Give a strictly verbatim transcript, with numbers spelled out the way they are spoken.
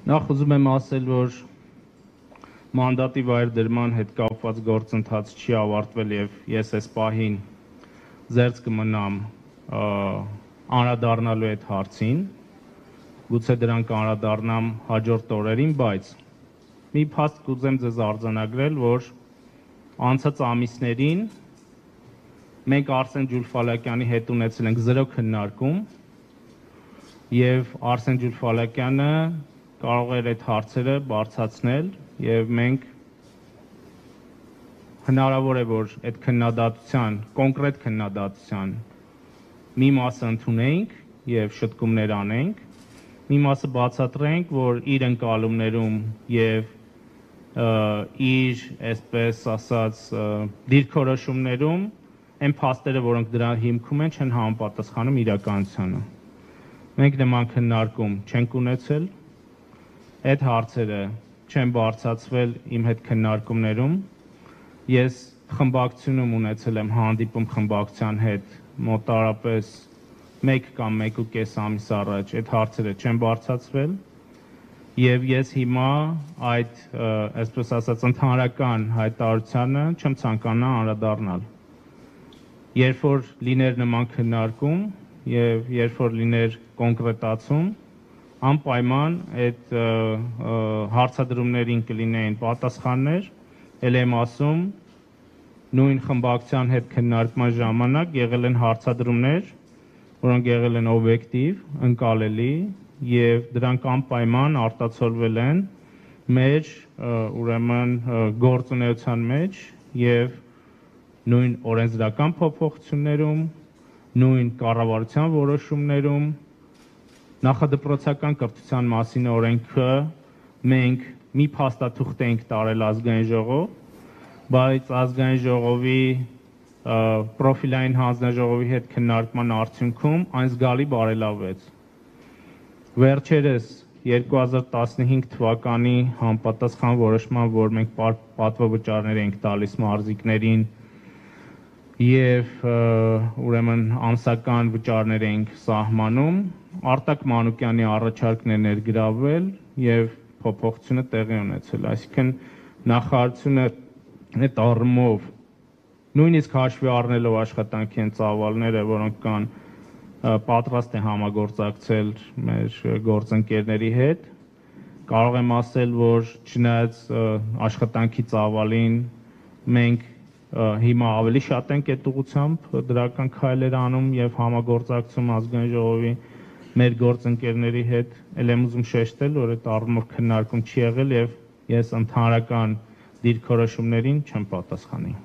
Նախ ուզում եմ ասել, որ մանդատի վայր դրման հետ կապված գործընթաց չի ավարտվել եւ ես այս պահին զերծ կմնամ անդրադառնալու այդ հարցին, գուցե դրան կանդրադառնամ հաջորդ օրերին, բայց մի փաստ կուզեմ ձեզ արձանագրել, որ անցած ամիսներին մենք Արսեն Ջուլֆալակյանի հետ ունեցել ենք զրո քննարկում եւ Արսեն Ջուլֆալակյանը կարող էր այդ հարցերը բարձրացնել եւ մենք հնարավոր է որ այդ քննադատության, կոնկրետ քննադատության մի մասը ընդունենք եւ շտկումներ անենք, մի մասը բացատրենք, որ իր ընկալումներում եւ իր, այսպես ասած, դիրքորոշումներում այն փաստերը, որոնք դրա հիմքում են, չեն համապատասխանում իրականությանը։ Մենք նման քննարկում չենք ունեցել, այդ հարցերը չեն բարձրացվել իմ հետ քննարկումներում, ես խմբակցությունում ունեցել եմ հանդիպում խմբակցության հետ մոտարապես մեկ կամ մեկ ու կես ամիս առաջ, այդ հարցերը չեն բարձրացվել եւ ես հիմա այդ, այսպես ասած, ընդհանրական հայտարարությանը չեմ ցանկանա անդրադառնալ։ Երբ որ լիներ նման քննարկում եւ երբ որ լիներ կոնկրետացում, անպայման այդ հարցադրումներին կլինեին պատասխաններ, ել եմ ասում, նույն խմբակցության հետ քննարկման ժամանակ եղել են հարցադրումներ, որոնք եղել են օբյեկտիվ, ընկալելի եւ դրանք անպայման արտացոլվել են մեր ուրեմն գործունեության մեջ եւ նույն օրենսդրական փոփոխություններում, նույն կառավարության որոշումներում, նախադպրոցական կրթության մասին օրենքը մենք մի փաստաթուղթ ենք տարել ազգային ժողով, բայց ազգային ժողովի պրոֆիլային հանձնաժողովի հետ քննարկման արդյունքում այն զգալի բարելավվեց։ Վերջերս երկու հազար տասնհինգ թվականի համապատասխան որոշման, որ մենք պատվավճարներ ենք տալիս մարզիկներին եւ ուրեմն ամսական վճարներ ենք սահմանում, Արտակ Մանուկյանի առաջարկն է ներգրավվել եւ փոփոխությունը տեղի ունեցել, այսինքն նախարարությունը այդ առումով նույնիսկ հաշվի առնելով աշխատանքի այն ծավալները, որոնք կան, պատրաստ է համագործակցել մեր գործընկերների հետ, կարող եմ ասել, որ չնայած աշխատանքի ծավալին մենք հիմա ավելի շատ ենք այդ ուղղությամբ դրական քայլեր անում եւ համագործակցում ազգային ժողովի մեր գործընկերների հետ, ել եմ ուզում շեշտել, որ այդ առումով քննարկում չի եղել եւ ես ընդհանրական դիրքորոշումներին չեմ պատասխանի։